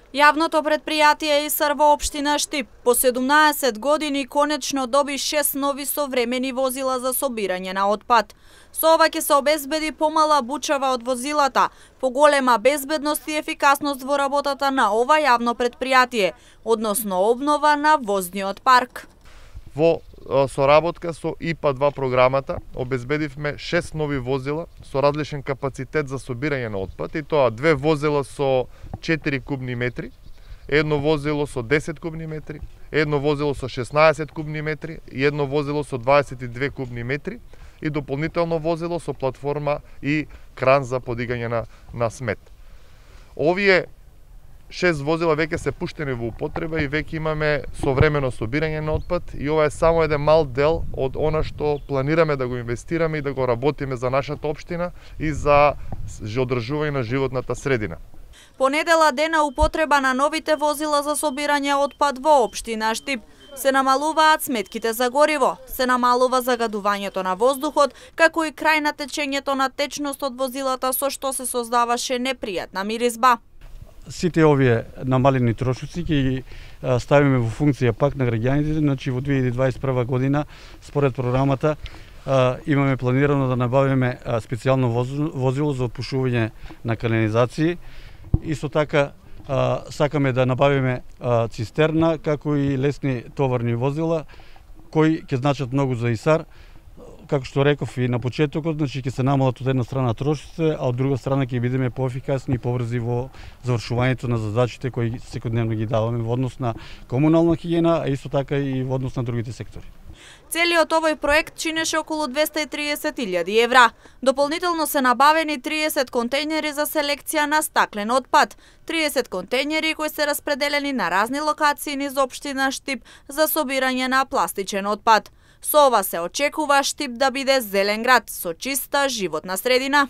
Јавното предпријатие ИСАР во општина Штип по 17 години конечно доби 6 нови современи возила за собирање на отпад. Со ова ќе се обезбеди помала бучава од возилата, поголема безбедност и ефикасност во работата на ова јавно предпријатие, односно обнова на возниот парк. Во соработка со ИПА-2 програмата обезбедивме 6 нови возила со различен капацитет за собирање на отпад, и тоа 2 возила со 4 кубни метри, едно возило со 10 кубни метри, едно возило со 16 кубни метри и едно возило со 22 кубни метри и дополнително возило со платформа и кран за подигање на смет. Овие 6 возила веќе се пуштени во употреба и веќе имаме современо собирање на отпад, и ова е само еден мал дел од она што планираме да го инвестираме и да го работиме за нашата општина и за одржување на животната средина. По недела дена употреба на новите возила за собирање отпад во општина Штип. Се намалуваат сметките за гориво, се намалува загадувањето на воздухот, како и крај на течењето на течност од возилата, со што се создаваше непријатна миризба. Сите овие намалени трошоци ќе ги ставиме во функција пак на граѓаните, значи во 2021 година според програмата имаме планирано да набавиме специјално возило за отпушување на канализации. Исто така сакаме да набавиме цистерна, како и лесни товарни возила кои ќе значат многу за ИСАР. Како што реков и на почетокот, значи ќе се намалат од една страна трошоците, а од друга страна ќе бидеме поефикасни и побрзи во завршувањето на задачите кои секојдневно ги даваме во однос на комунална хигиена, а исто така и во однос на другите сектори. Целиот овој проект чинеше околу 230.000 евра. Дополнително се набавени 30 контејнери за селекција на стаклен отпад, 30 контејнери кои се распределени на разни локации низ општина Штип за собирање на пластичен отпад. Со ова се очекува Штип да биде зелен град со чиста животна средина.